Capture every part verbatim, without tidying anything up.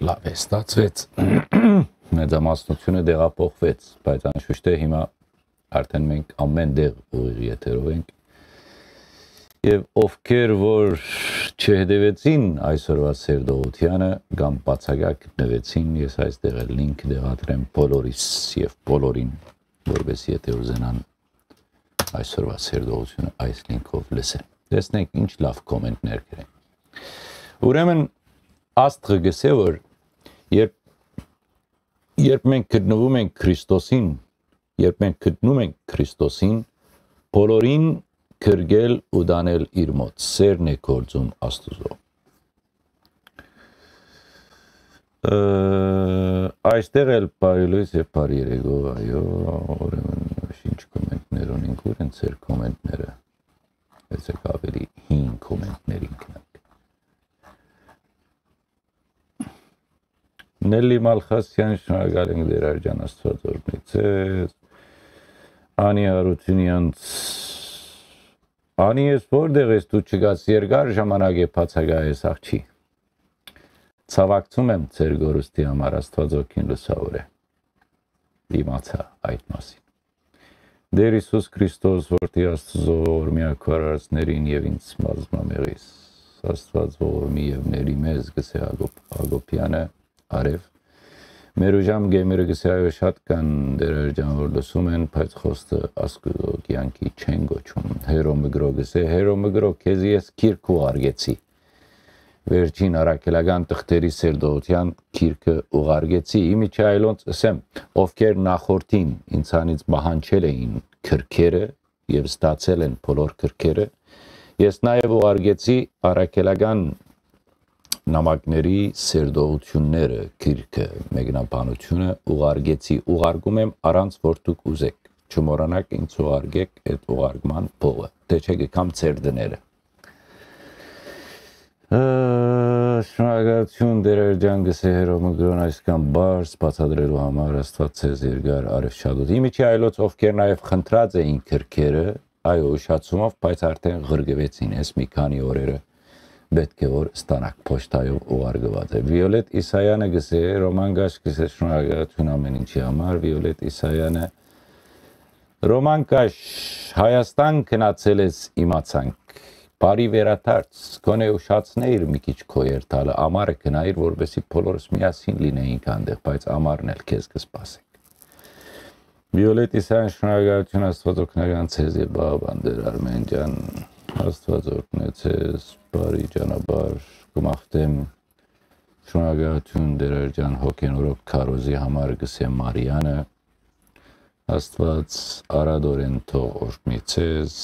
Աբե, ստացվեց, մեծամասնությունը տեղափոխվեց, բայց անշուշտ է հիմա արդեն մենք ամեն տեղ ուղիղ եթերով ենք։ Եւ ովքեր որ չհետեւեցին այսօրվա սերտողությանը կամ բացակայ գտնուեցին, ես այստեղ էլ link կդեղադրեմ բոլորիս եւ բոլորին, որպեսզի եթե ուզենան այսօրվա սերտողությունը այս link-ով լսեն։ Տեսնենք ինչ լաւ comment-ներ կրեն։ Ուրեմն, Աստղը գսե, որ երբ, երբ մենք գտնվում ենք Քրիստոսին, երբ մենք գտնում ենք Քրիստոսին, բոլորին գրկել ու տանել իր մոտ, սերն է գործում Աստուծոյ։ Ը, այստեղ էլ բարի լույս եւ բարի երեկո, այո, ուրեմն ինչ comment-ներ ունենք, ո՞ւր են ձեր comment-ները։ Եկեք ավելի հին comment-ներին գնանք։ Նելի Մալխասյան, շնորհակալ ենք, Տեր Աջան, Աստուած օրհնի ձեզ։ Անի Հարությունյանց, Անի, ես որտեղ ես, դու չգաս, երկար ժամանակ է բացակայ ես, աղջի։ Ցավակցում եմ ձեր կորուստի համար, Աստուած օգին լուսաւոր է։ Իմացայ այդ մասին։ Տեր Յիսուս Քրիստոս, որդի Աստուծոյ, ողորմի ակվարարածներին եւ ինձ բազմամեղիս, Աստուած ողորմի եւ ների մեզ, գսե Հակոբ, Հակոբեանը, արեւ։ Մեր ուժամ գեմիրը գսե, այո, շատ կան Տեր Աջան որ լսում են, բայց խոստը Աստուծոյ կեանքի չեն գոչում։ Հերո Մգրօ գսե, Հերո Մգրօ, քեզի ես գիրք ուղարկեցի։ Վերջին առաքելական թղթերի սերտողութեան գիրքը ուղարկեցի։ Իմիջայլոնց ըսեմ, ովքեր նախորդին ինձանից պահանջել էին գրքերը եւ ստացել են բոլոր գրքերը, ես նաեւ ուղարկեցի առաքելական նամակների սերտողությունները, գիրքը, մեկնաբանությունը ուղարկեցի, ուղարկում եմ առանց որ դուք ուզեք, չմոռանաք ինձ ուղարկեք այդ ուղարկման փողը, թե չէ կգամ ձեր տները։ Ը, շնորհակալություն, Տեր Աջան, գսե Հերո Մգրոն, այսքան բարձ բացատրելու համար, Աստուած ձեզ երկար արեւշատուտ։ Իմիջի այլոց, ովքեր նաև խնդրած էին գրքերը, այո, ուշացումով, բայց արդեն ղրկվեցին, այս մի քանի օրերը պետք է որ ստանաք, փոստայով ուղարկված է։ Վիոլետ Իսայանը գսե, Ռոման Գաշ գսե, շնորհակալություն ամեն ինչի համար, Վիոլետ Իսայանը, Ռոման Կաշ, Հայաստան գնացել ես, իմացանք։ Բարի վերադարձ, գոնե ուշացնեիր մի քիչ քո երթալը, ամառը գնայիր, որպեսզի բոլորս միասին լինեինք այնտեղ, բայց ամառն էլ քեզ կսպասենք։ Վիոլետ Իսայան, շնորհակալություն, Աստված օգնական ձեզ եւ Բաղ Բանդեր Արմեն ջան, Աստված օրհնե ձեզ, բարի ճանապարհ կմաղթեմ, շնորհակալություն Տեր ջան, հոգենորոք քարոզի համար գսե Մարիանը, Աստված արադորեն թող օրհնի ձեզ։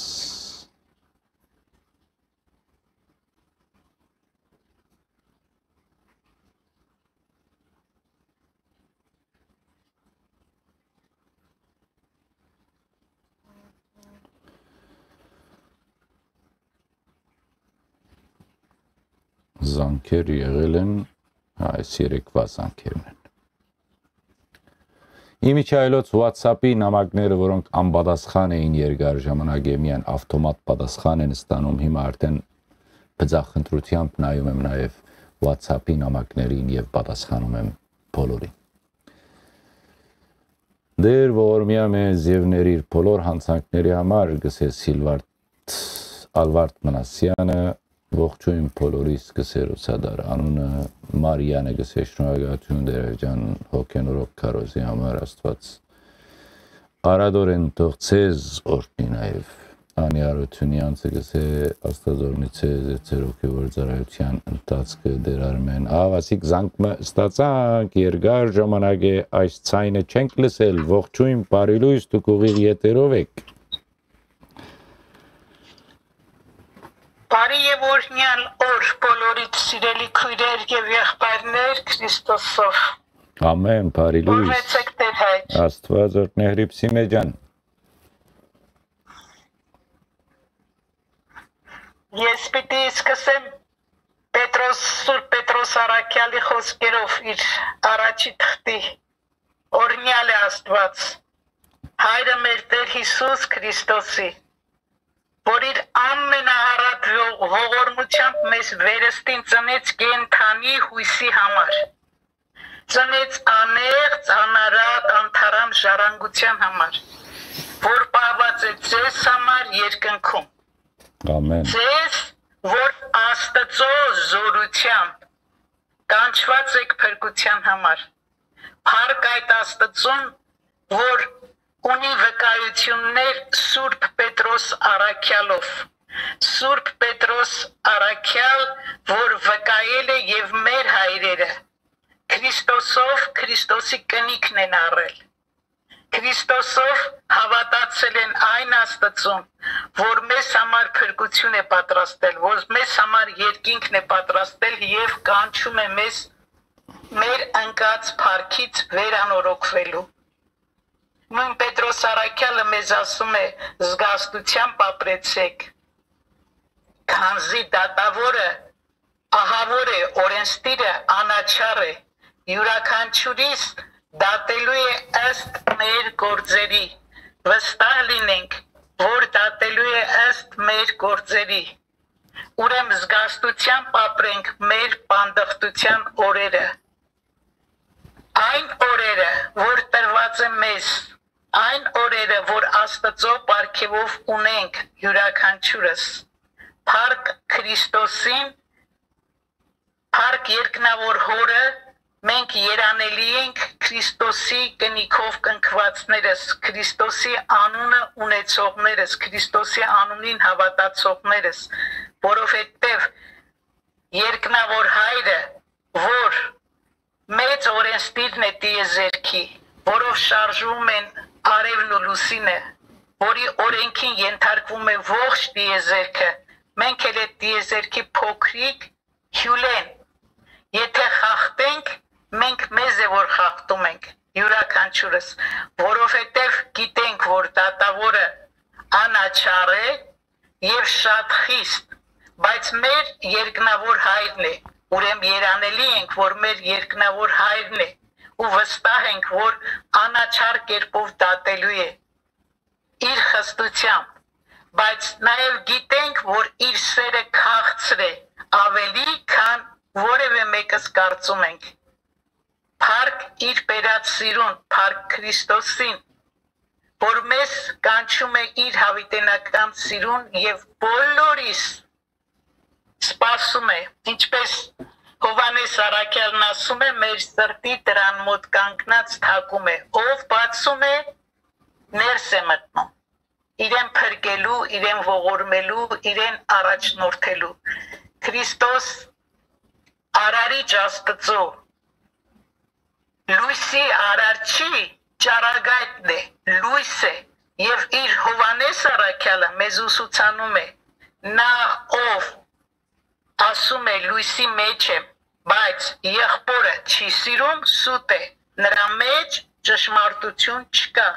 Զանգեր եղել են, հա, այս երեկվա զանգերն են։ Իմիջայլոց WhatsApp-ի նամակները, որոնք անպատասխան էին երկար ժամանակ, միայն ավտոմատ պատասխան են ստանում, հիմա արդեն բծախնդրությամբ նայում եմ նաև WhatsApp-ի նամակներին եւ պատասխանում եմ բոլորին։ Դեր ողորմիա մեզ եւ ներիր բոլոր հանցանքների համար, գսե Սիլվարդ Ալվարդ Մնասյանը, ողջույն բոլորիս, գսե Ռուսադար անունը, Մարիանը գսե շնորհակալություն Տեր ջան, հոգենորոք քարոզի համար, Աստված արադորեն թող ձեզ օրհնի նաև։ Անի Արությունյանցը գսե Աստված օրհնի ձեզ, ձեր հոգեվոր ծառայության ընթացքը Տեր Արմեն։ Ահա, ասիկ զանգ մը ստացանք, երկար ժամանակ է այս ցայնը չենք լսել, ողջույն, բարի լույս, դուք ուղիղ եթերով եք։ Բարի եւ օրհնյալ օր բոլորիդ, սիրելի քույրեր եւ եղբայրներ Քրիստոսով։ Ամեն, բարի լույս։ Օրհնեցեք Տեր հայր։ Աստված օրհնե Հրիփսի մեջան։ Ես պիտի սկսեմ Պետրոս, Սուրբ Պետրոս Առաքյալի խոսքերով իր առաջի թղթի. «Օրհնյալ է Աստված, Հայրը մեր Տեր Յիսուս Քրիստոսի, որ իր ամենաառատ ողորմությամբ մեզ վերստին ծնեց կենդանի յուսի համար, ծնեց անեղծ, անարատ, անթարամ ժառանգության համար, որ պահուած է ձեզ համար երկնքում։ Ամեն։ Ձեզ, որ Աստծո զորությամբ կանչուած եք փրկության համար։ Փառք այդ Աստծուն, որ ունի վկայություններ Սուրբ Պետրոս առաքեալով։ Սուրբ Պետրոս առաքեալ, որ վկայել է եւ մեր հայրերը Քրիստոսով, Քրիստոսի կնիքն են առել։ Քրիստոսով հաւատացել են այն Աստծուն, որ մեզ համար փրկություն է պատրաստել, որ մեզ համար երկինքն է պատրաստել եւ կանչում է մեզ մեր ընկած փառքից վերանորոգվելու։ Նույն Պետրոս առաքյալը մեզ ասում է. «Զգաստությամբ ապրեցեք, քանզի դատաւորը ահաւոր է, օրենսդիրը անաչառ է։ Իւրաքանչիւրիս դատելու է ըստ մեր գործերի։ Վստահ լինենք, որ դատելու է ըստ մեր գործերի։ Ուրեմն զգաստությամբ ապրենք մեր պանդխտության օրերը։ Այն օրերը, որ տրուած է մեզ, այն օրերը, որ Աստծո պարգեւով ունենք յուրաքանչիւրս, փառք Քրիստոսին, փառք երկնաւոր Հօրը, մենք երանելի ենք Քրիստոսի կնիքով կնքուածներս, Քրիստոսի անունը ունեցողներս, Քրիստոսի անունին հաւատացողներս, որովհետեւ երկնաւոր Հայրը, որ մեծ օրենսդիրն է տիեզերքի, որով շարժվում են արեւն ու լուսինը, որի օրենքին ենթարկվում է ողջ տիեզերքը, մենք էլ այդ տիեզերքի փոքրիկ հիւլեն։ Եթե խախտենք, մենք մեզ է որ խախտում ենք, յուրաքանչիւրս, որովհետեւ գիտենք, որ դատաւորը անաչառ է եւ շատ խիստ, բայց մեր երկնաւոր Հայրն է, ուրեմն երանելի ենք, որ մեր երկնաւոր Հայրն է, ու վստահ ենք, որ անաչառ կերպով դատելու է իր խստությամբ, բայց նաեւ գիտենք, որ իր սերը քաղցր է, ավելի քան որեւէ մեկս կարծում ենք։ Փառք իր բերած սիրուն, փառք Քրիստոսին, որ մեզ կանչում է իր յաւիտենական սիրուն եւ բոլորիս սպասում է, ինչպես Յովհաննէս առաքյալն ասում է, մեր սրտի դրան մօտ կանգնած թակում է, ով բացում է, ներս է մտնում, իրեն փրկելու, իրեն ողորմելու, իրեն առաջնորդելու։ Քրիստոս Արարիչ Աստծո լոյսի արարչի ճառագայթն է, լոյս է, եւ իր Յովհաննէս առաքյալը մեզ ուսուցանում է, նա ով ասում է. «Լոյսի մեջ եմ», բայց եղբորը չի սիրում, սուտ է, նրա մեջ ճշմարտություն չկա,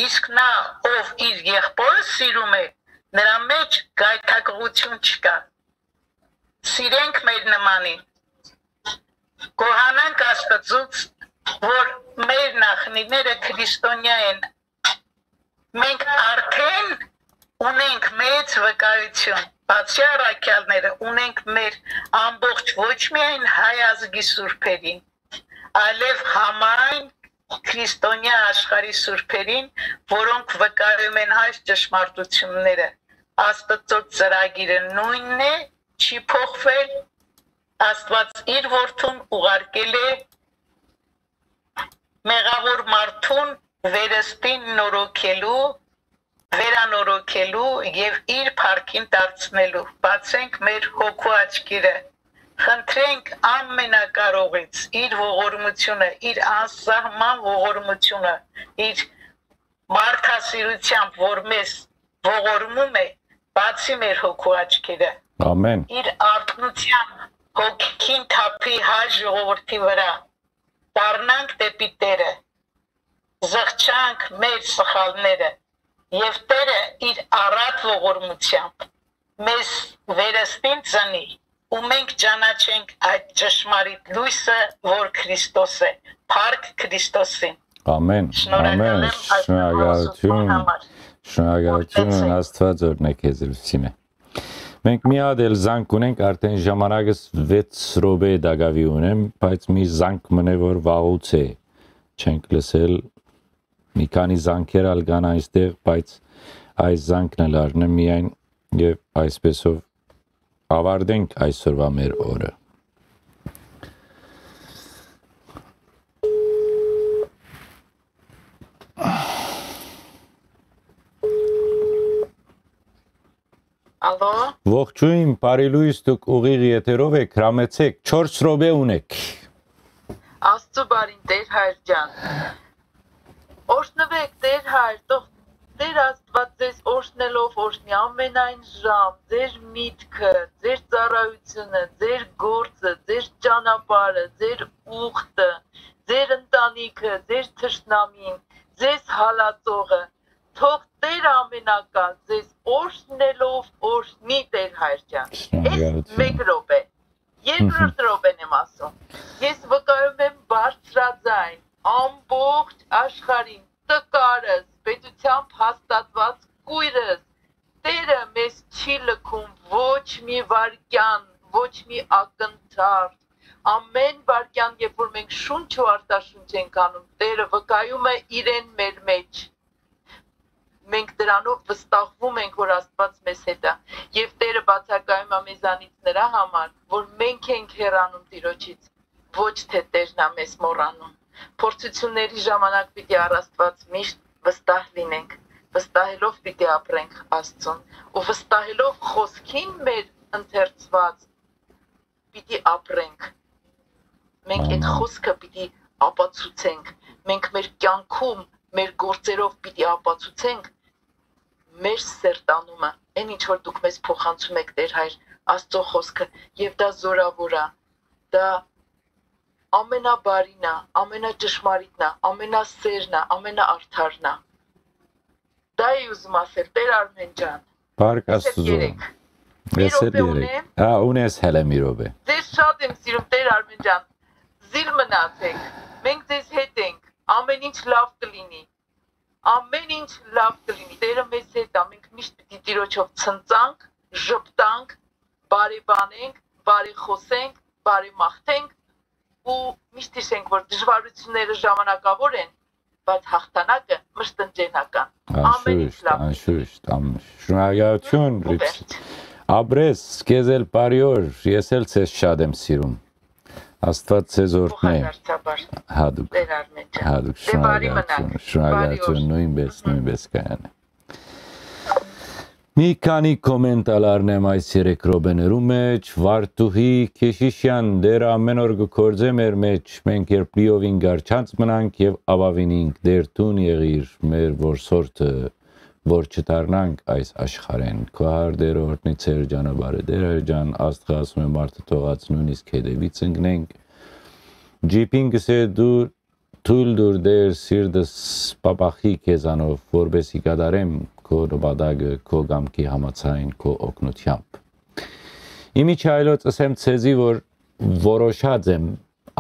իսկ նա ով իր եղբորը սիրում է, նրա մեջ գայթակղություն չկա։ Սիրենք մեր նմանին, գոհանանք Աստծուց, որ մեր նախնիները քրիստոնեայ են։ Մենք արդեն ունենք մեծ վկայություն, բացի առաքյալները, ունենք մեր ամբողջ ոչ միայն հայ ազգի սուրբերին, այլեւ համայն քրիստոնեայ աշխարհի սուրբերին, որոնք վկայում են այս ճշմարտությունները։ Աստծո ծրագիրը նույնն է, չի փոխվել։ Աստված իր որդուն ուղարկել է մեղաւոր մարդուն վերստին նորոգելու, վերանորոգելու եւ իր փառքին դարձնելու։ Բացենք մեր հոգու աչքերը, խնդրենք Ամենակարողից իր ողորմությունը, իր անսահման ողորմությունը, իր մարդասիրությամբ, որ մեզ ողորմում է, բացի մեր հոգու աչքերը։ Ամեն։ Իր արթնության հոգին թափի հայ ժողովրդի վրա, դառնանք դեպի Տերը, զղջանք մեր սխալները, եւ Տերը իր առատ ողորմությամբ մեզ վերստին ծնի, ու մենք ճանաչենք այդ ճշմարիտ լույսը, որ Քրիստոս է։ Փառք Քրիստոսին։ Ամեն, շնորհակալ ամեն, եմ այս շնորհակալություն, համար։ Շնորհակալություն, Օրհնեցեք։ Աստված օրհնե քեզ, Լուսինե։ Մենք մի հատ էլ զանգ ունենք, արդեն ժամանակս վեց րոպե տակաւի ունեմ, բայց մի զանգ մնե որ վաղուց է չենք լսել, մի քանի զանգեր ալ կան այստեղ, բայց այս զանգն էլ առնեմ միայն եւ այսպեսով ավարտենք այսօրվա մեր օրը։ Ալո։ Ողջույն, բարի լույս, դուք ուղիղ եթերով էք, հրամեցեք, չորս րոպե ունեք։ Աստծու բարին, Տեր հայր ջան։ Օրհնուեք, Տեր հայր, թող Տեր Աստուած ձեզ օրհնելով օրհնի ամենայն ժամ, ձեր միտքը, ձեր ծառայությունը, ձեր գործը, ձեր ճանապարհը, ձեր ուխտը, ձեր ընտանիքը, ձեր թշնամին, ձեզ հալածողը, թող Տեր ամենակալ ձեզ օրհնելով օրհնի, Տեր հայր ջան։ Այս շնորհակալություն։ Մեկ րոպե, երկրորդ րոպեն եմ ասում։ Ես վկայում եմ բարձրաձայն ամբողջ աշխարհին, տկարս, պետությամբ հաստատված կոյրս, Տերը մեզ չի լքում ոչ մի վայրկեան, ոչ մի ակնթարթ։ Ամեն վայրկեան, երբ որ մենք շունչ ու արտաշունչ ենք անում, Տերը վկայում է իրեն մեր մեջ։ Մենք դրանով վստահվում ենք, որ Աստուած մեզ հետ է, եւ Տերը բացակայում է մեզանից նրա համար, որ մենք ենք հեռանում Տիրոջից, ոչ թե Տերն է մեզ մոռանում։ Փորձությունների ժամանակ պիտի առ Աստուած միշտ վստահ լինենք, վստահելով պիտի ապրենք Աստծուն, ու վստահելով խօսքին մեր ընթերցուած պիտի ապրենք։ Մենք այդ Ամեն։ Խօսքը պիտի ապացուցենք, մենք մեր կյանքում, մեր գործերով պիտի ապացուցենք մեր սերտանումը, այն ինչ որ դուք մեզ փոխանցում եք, Տեր հայր, Աստծո խօսքը, եւ դա զորաւոր է, դա ամենաբարին է, ամենաճշմարիտն է, ամենասերն է, ամենաարդարն է։ Դա էի ուզում ասել, Տեր Արմեն ջան։ Պարկ Ես էլ Աստուծո։ Երեք։ Մի Ես էլ րոպե երեք։ Ունեմ։ Հա, ունես հələ մի րոպե։ Ձեզ շատ եմ սիրում, Տեր Արմեն ջան։ Զիլ մնացեք։ Մենք ձեզ հետ ենք։ Ամեն ինչ լավ կլինի։ Ամեն ինչ լավ կլինի։ Տերը մեզ հետ է։ Մենք միշտ պիտի Տիրոջով ցնծանք, ժպտանք, բարեբանենք, բարեխոսենք, բարեմաղթենք ու միշտ հիշենք, որ դժվարությունները ժամանակավոր են, բայց հաղթանակը մշտնջենական։ Ամեն ինչ Անշուշտ, լավ։ Անշուշտ, անշուշտ։ Շնորհակալություն, Ու Ռիփս։ Վերջ։ Ապրես, քեզ էլ բարի օր, ես էլ ձեզ շատ եմ սիրում։ Աստված ձեզ օրհնի։ Փոխադարձաբար։ Հատուկ։ Տեր Արմեն ջան։ Հատուկ, Դե բարի շնորհակալություն, մնաք, շնորհակալություն, բարի օր։ Նույնպես, նույնպես կայանե։ Մի քանի կոմենտ ալ առնեմ այս երեք րոպեներու մեջ։ Վարդուհի Քեշիշյան, Տերը ամեն օր կը գործէ մեր մեջ, մենք երբ լիովին գարջանց մնանք եւ ապաւինինք, Տեր դուն եղիր մեր որսորդը, որ չդառնանք այս աշխարհեն։ Քո հար Տերը օրհնի ձեր ճանապարհը, Տեր հայր ջան, Աստղը ասում է մարդը թողած նույնիսկ հետևից ընկնենք։ Ջիփին կսե դու թույլ դուր Տեր սիրտս պապախի քեզանով, որպեսի կատարեմ քո նպատակը, քո կամքի համաձայն, քո օգնությամբ։ Իմիջայլոց ըսեմ ձեզի, որ որոշած եմ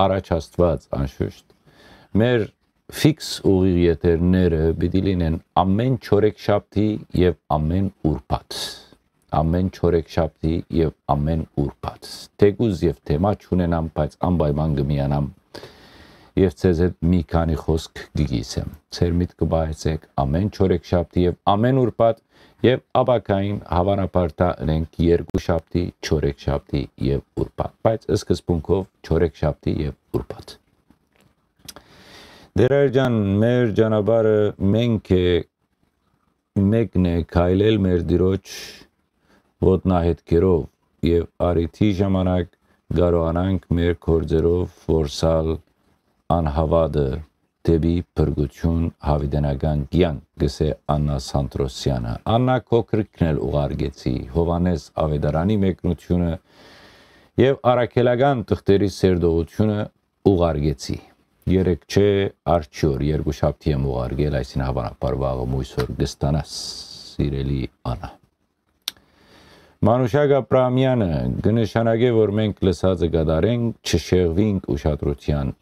առաջ Աստված անշուշտ։ Մեր ֆիքս ուղիղ եթերները պիտի լինեն ամեն չորեքշաբթի եւ ամեն ուրբաթ։ Ամեն չորեքշաբթի եւ ամեն ուրբաթ։ Թեկուզ եւ թեմա չունենամ, բայց անպայման կմիանամ եւ ձեզ հետ մի քանի խոսք կգիսեմ։ Ձեր միտքը պահեցեք ամեն չորեքշաբթի եւ ամեն ուրբաթ եւ ապագային հավանաբար դա ընենք երկուշաբթի, չորեքշաբթի եւ ուրբաթ, բայց սկզբունքով չորեքշաբթի եւ ուրբաթ։ Տեր հայր ջան, մեր ճանապարհը մենք է, մեկն է քայլել մեր Տիրոջ ոտնահետքերով եւ առիթի ժամանակ կարողանանք մեր գործերով որսալ անհավատը դեպի փրկություն, յաւիտենական կեանք, կսե Աննա Սանտրոսյանը։ Աննա քո քրիքն էլ ուղարկեցի, Յովհաննէս Աւետարանի մեկնությունը եւ առաքելական թղթերի սերտողությունը ուղարկեցի։ Երեկ չէ, արջի օր, երկուշաբթի եմ ուղարկել, այսինքն հավանաբար վաղը մոյս օր կստանաս, սիրելի Աննա։ Մանուշակ Աբրահամյանը կը նշանակէ, որ մենք լսածը կատարենք, չշեղուինք ուշադրության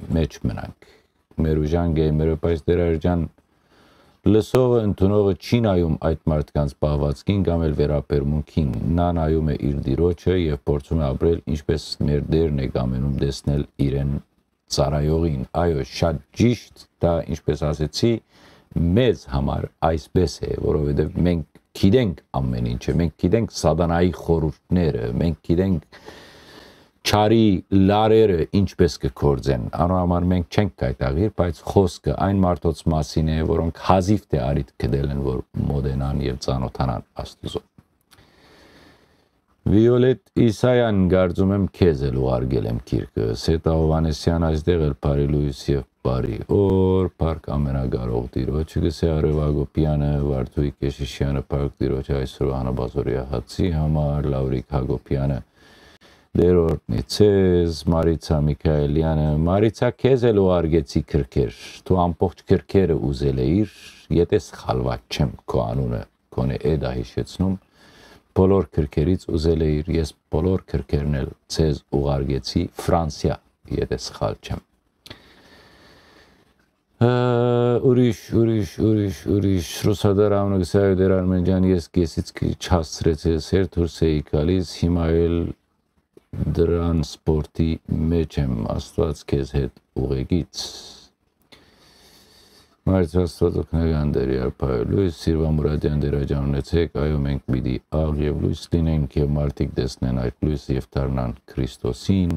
մեջ մնանք։ Մեր ուժան գեյմերը, բայց Տեր հայր ջան, Լսողը, ընդունողը չի նայում այդ մարդկանց պահվածքին կամ էլ վերաբերմունքին։ Նա նայում է իր Տիրոջը եւ փորձում է ապրել, ինչպես մեր Տէրն է կամենում տեսնել իրեն ծառայողին։ Այո, շատ ճիշտ, դա, ինչպես ասեցի, մեզ համար այսպես է, որովհետեւ մենք գիտենք ամեն ինչը, մենք գիտենք սատանայի խորհուրդները, մենք գիտենք չարի լարերը ինչպես կը գործեն։ Անոր համար մենք չենք կայտաղիր, բայց խոսքը այն մարդոց մասին է, որոնք հազիվ թէ առիթ գտել են, որ մոտենան եւ ծանօթանան Աստուծոյ։ Վիոլետ Իսայան, կարծում եմ, քեզ էլ ուղարկել եմ գիրքը։ Սեթա Հովհաննիսյան, այստեղ էլ բարի լոյս եւ բարի օր, փառք ամենակարող Տիրոջը, կսե Արեւ Հակոբեանը, Վարդուհի Կեշիշյանը, փառք Տիրոջը այսօրվա հանապազօրեայ հացի համար, Լաւրիկ Հակոբեանը, Տեր օրհնի ձեզ, Մարիցա Միքայելյանը, Մարիցա, քեզ էլ ուղարկեցի գրքեր, դու ամբողջ գրքերը ուզել էիր, եթե սխալված չեմ քո անունը, գոնե էդ ա հիշեցնում, բոլոր գրքերից ուզել էիր, ես բոլոր գրքերն էլ ձեզ ուղարկեցի Ֆրանսիա, եթե սխալ չեմ։ Ը, ուրիշ, ուրիշ, ուրիշ, ուրիշ, Ռուսադար Ամնը գսայ Տեր Արմենջան, ես կեսից քիչ հասցրեցի, սեր դուրս էի գալիս, հիմա էլ դրան սպորտի մեջ եմ, Աստված քեզ հետ ուղեկից։ Մայր Աստված օգնական Տեր Արփայ լոյս, Սիրվա Մուրադյան Տեր աջանունեցեք, այո, մենք պիտի աղ եւ լոյս լինենք եւ մարդիկ տեսնեն այդ լոյսը եւ դառնան Քրիստոսին։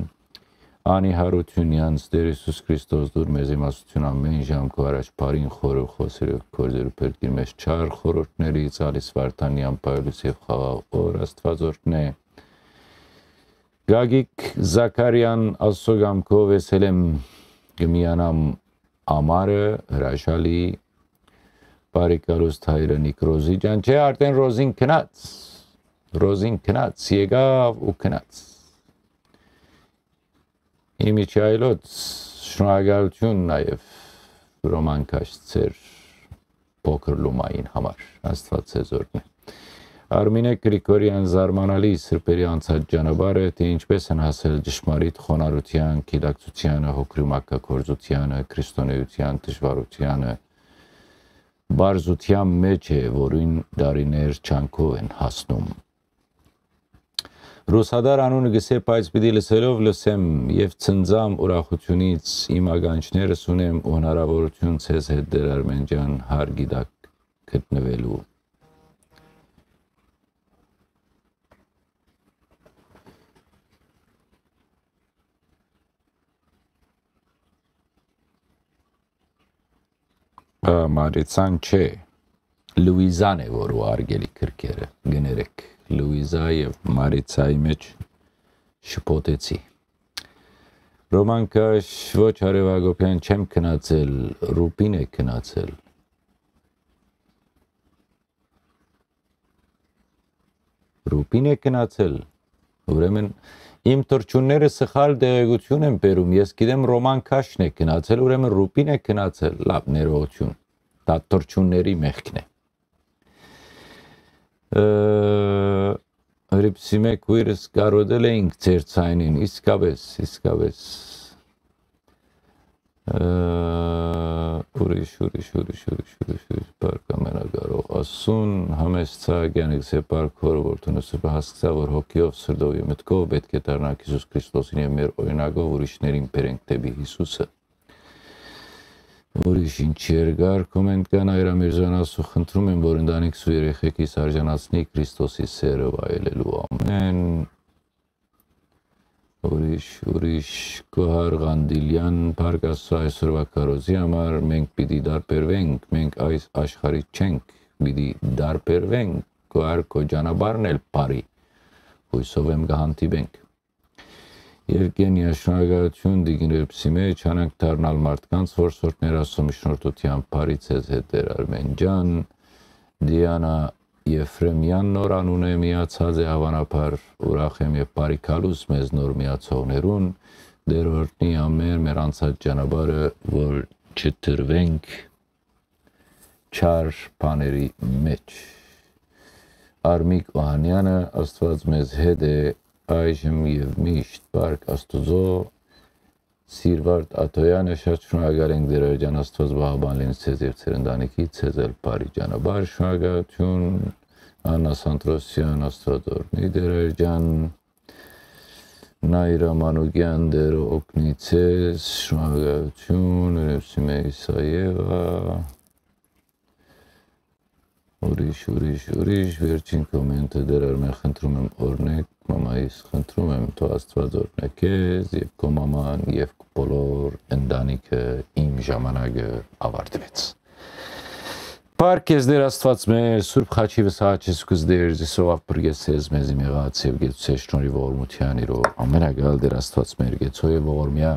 Անի Հարությունյանց, Տեր Հիսուս Քրիստոս, դուր մեզ իմաստություն ամեն ժամ քո առաջ բարին խորը խոսերով գործերու փրկիր մեզ չար խորհուրդներից, Ալիս Վարդանյան, Պայլուս եւ խաղաղ օր, Աստված օրհնե։ Գագիկ Զաքարյան, Աստծո կամքով ես էլ եմ կը միանամ ամառը, հրաշալի, բարի գալուստ հայրը Նիկ Ռոզի ջան, չէ, արդեն Ռոզին գնաց, Ռոզին գնաց, եկաւ ու գնաց։ Իմ իջայլոց, շնորհակալություն նաև Ռոման Քաշցեր փոքր լումային համար, Աստված ձեզ օրհնի։ Արմինե Գրիգորյան, զարմանալի սրբերի անցած ճանապարհը, թէ ինչպես են հասել ճշմարիտ խոնարհության, գիտակցությանը, հոգրի մաքագործությանը, քրիստոնեության դժվարությանը, բարզության մեջ է, որին դարիներ չանքով են հասնում։ Ռուսադար անունը գսե, բայց պիտի լսելով լսեմ եւ ցնծամ ուրախությունից, իմ ականջներս ունեմ ու հնարավորություն ձեզ հետ, Տեր Արմենջան, հարգի տակ գտնվելու։ Ա, Մարիցան չէ, Լուիզան է, որ ուղարկելի գրքերը, կներեք, Լուիզա եւ Մարիցայի մեջ շփոթեցի։ Ռոման Քաշ, ոչ, Արեւ Հակոբեան, չեմ գնացել, Ռուպին է գնացել։ Ռուպին է գնացել։ Ուրեմն իմ թռչունները սխալ տեղեկություն են բերում։ Ես գիտեմ Ռոման Քաշն է գնացել, ուրեմն Ռուպին է գնացել։ Լավ, ներողություն։ Դա թռչունների մեղքն է։ Ը, Հրիպսի մէկ քույրս կարոտել էինք ձեր ցայնին, իսկապես, իսկապես։ Ը, ուրիշ, ուրիշ, ուրիշ, ուրիշ, ուրիշ, ուրիշ, Պարկ ամենակարող Ասուն, Համեստ Սահակյանը գսե Պարկ հորը, որ դունը սրբը հասկցայ, որ հոգիով, սրտով եւ մտքով պէտք է դառնանք Յիսուս Քրիստոսին եւ մեր օրինակով ուրիշներին բերենք դէպի Յիսուսը։ Ուրիշ ինչ երկար կոմենտ կան, Այր Ամիրզյան Ասու, խնդրում եմ, որ ընտանիքս ու երեխեքիս արժանացնի Քրիստոսի սերը վայելելու։ Ամեն։ Ուրիշ, ուրիշ, Գոհար Ղանդիլյան, Փառք Աստծո այսօրվա քարոզի համար, մենք պիտի տարբերվենք, մենք այս աշխարհի չենք, պիտի տարբերվենք, Գոհար քո ճանապարհն էլ բարի, հույսով եմ կհանդիպենք։ Եվգենիա, շնորհակալություն, Տիկին Հրիպսի մեջ, հանանք դառնալ մարդկանց, որ սորտներ Աստծո միջնորդությամբ բարի ձեզ հետ, Տեր Արմեն ջան, Դիանա Եֆրեմեան նոր անուն է, միացած է, հավանաբար ուրախ եմ եւ բարի գալուս մեզ նոր միացողներուն, Տեր օրհնի ամեն մեր անցած ճանապարհը, որ չդրվենք չար բաների մեջ։ Արմիկ Օհանյանը, Աստված մեզ հետ է այժմ եւ միշտ, Փառք Աստուծո, Սիրվարդ Աթոյանը, շատ շնորհակալ ենք, Տէր Աղջան, Աստուած պահապան լինի ձեզ եւ ձեր ընտանիքի, ձեզ էլ բարի ճանապարհ, շնորհակալութիւն։ Աննա Սանտրոսյան, Աստուած օրհնի, Տէր Աղջան։ Նայրա Մանուկեան, Տէրը օգնի ձեզ, շնորհակալութիւն, Ուրեմսիմե Իսաեվա։ Ուրիշ, ուրիշ, ուրիշ, վերջին կոմենտը, Տէր Արմէն, խնդրում եմ, օրհնեք մամայիս, խնդրում եմ, թող Աստուած օրհնե քեզ եւ քո մաման եւ քո բոլոր ընտանիքը, իմ ժամանակը ավարտվեց։ Փառք քեզ, Տէր Աստուած մեր, Սուրբ Խաչի վսահաչես քուզ Տէր, Յիսուս փրկեց ձեզ, մեզի մեղած եւ գեցուցե շնորհի ողորմութեան իրով։ Ամենակալ Տէր Աստուած մեր, գեցո եւ ողորմեայ,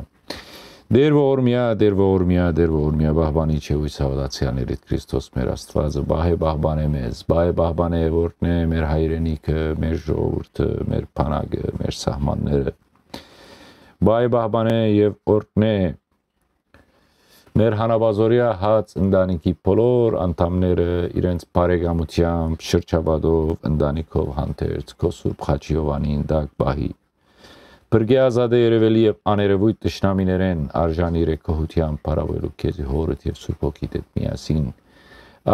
Տէր ողորմեայ, Տէր ողորմեայ, Տէր ողորմեայ, պահպանիչ եւ յոյս հաւատացեալներիդ Քրիստոս մեր Աստուածը, պահէ պահպանէ մեզ, պահէ պահպանէ եւ օրհնէ մեր հայրենիքը, մեր ժողովուրդը, մեր բանակը, մեր սահմանները, պահէ պահպանէ եւ օրհնէ մեր հանապազօրեայ հաց ընտանիքի բոլոր անդամները իրենց բարեկամութեամբ, շրջապատով, ընտանիքով հանդերձ, քո Սուրբ Խաչի Յովանին տակ պահի։ Փրկէ, ազատէ, երեւելի եւ աներեւոյթ թշնամիներէն, արժանի իրեն գոհութեամբ փառաւորելու քեզի Հօրդ եւ Սուրբ Հոգիդ հետ միասին։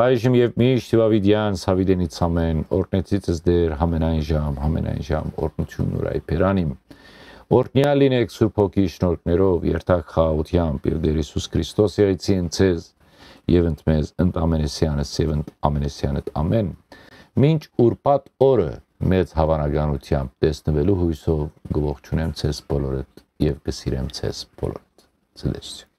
Այժմ եւ միշտ եւ աւիտեան սավիտենից ամէն, օրհնեցիցս Տէր, համենայն ժամ, համենայն ժամ, օրհնութիւն ուրայ բերան իմ։ Օրհնեալ լինէք Սուրբ Հոգի շնորհքներով, երթաք խաղաղութեամբ եւ Տէր Յիսուս Քրիստոս եղիցին ձեզ եւ ընդ մեզ, ընդ ամենեսեանս եւ ընդ ամենեսեանդ ամէն։ Մինչ ուրբաթ օրը մեծ հաւանականութեամբ տեսնուելու յոյսով կը ողջունեմ ձեզ բոլորդ եւ կը սիրեմ ձեզ բոլորդ։ Ցտեսություն։